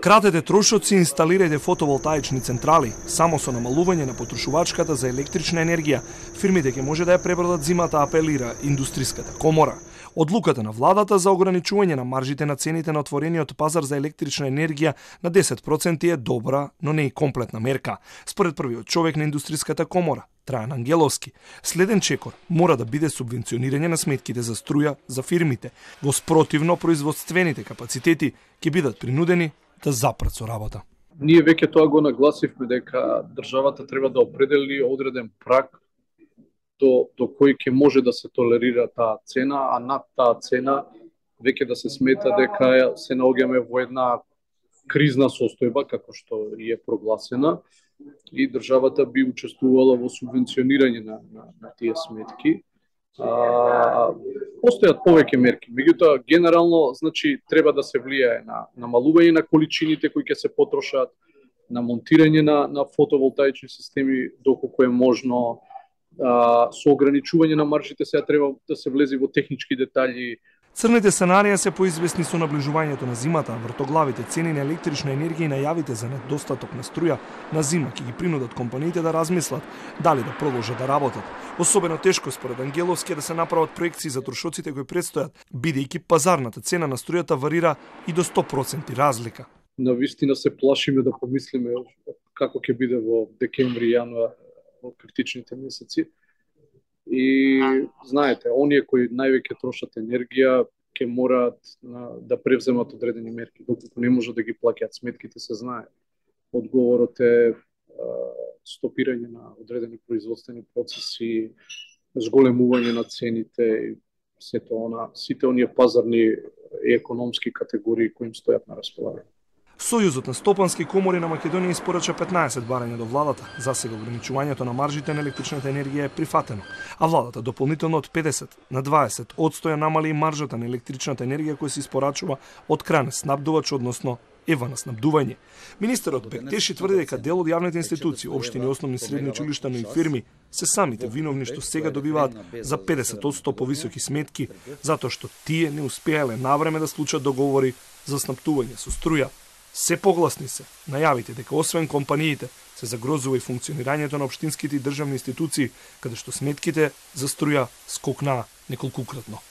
Кратете трошоци и инсталирајте фотоволтаични централи. Само со намалување на потрошувачката за електрична енергија, фирмите ќе може да ја пребродат зимата, апелира Индустриската комора. Одлуката на владата за ограничување на маржите на цените на отворениот пазар за електрична енергија на 10% е добра, но не и комплетна мерка. Според првиот човек на Индустриската комора, Трајан Ангеловски, следен чекор мора да биде субвенционирање на сметките за струја за фирмите. Во спротивно, производствените капацитети ќе бидат принудени да запрат со работа. Ние веќе тоа го нагласивме дека државата треба да определи одреден праг до кој ќе може да се толерира таа цена, а над таа цена веќе да се смета дека се наоѓаме во една кризна состојба, како што е прогласена, и државата би учествувала во субвенционирање на тие сметки. Постојат повеќе мерки, меѓутоа генерално значи треба да се влијае на намалување на количините кои ќе се потрошат, на монтирање на фотоволтаични системи доколку е можно, со ограничување на маржите. Сега треба да се влезе во технички детали. Црните сценарија се поизвестни со наближувањето на зимата, вртоглавите цени на електрична енергија и најавите за недостаток на струја на зима ќе ги принудат компаниите да размислат дали да продолжат да работат. Особено тешко според Ангеловски да се направат проекции за трошоците кои предстојат, бидејќи пазарната цена на струјата варира и до 100% разлика. Навистина се плашиме да помислиме како ќе биде во декември, јануар, во критичните месеци. И знаете, оние кои највеќе трошат енергија ќе мораат да превземат одредени мерки, доколку не може да ги плаќаат сметките, се знае. Одговорот е стопирање на одредени производствени процеси, зголемување на цените и сите оние пазарни и економски категории кои им стојат на располагање. Сојузот на стопански комори на Македонија испорача 15 барања до владата. Засега ограничувањето на маржите на електричната енергија е прифатено, а владата дополнително од 50 на 20% ја намали и маржата на електричната енергија која се испорачува од кран снабдувач, односно ева на снабдување. Министерот Бектеши тврди дека дел од јавните институции, општини, основни средни училишта, но и фирми се самите виновни што сега добиваат за 50% повисоки сметки, затоа што тие не успеале навреме да склучат договори за снабдување со струја. Се погласни се најавите дека освен компаниите се загрозува и функционирањето на општинските и државни институции, каде што сметките за струја скокнаа неколкукратно.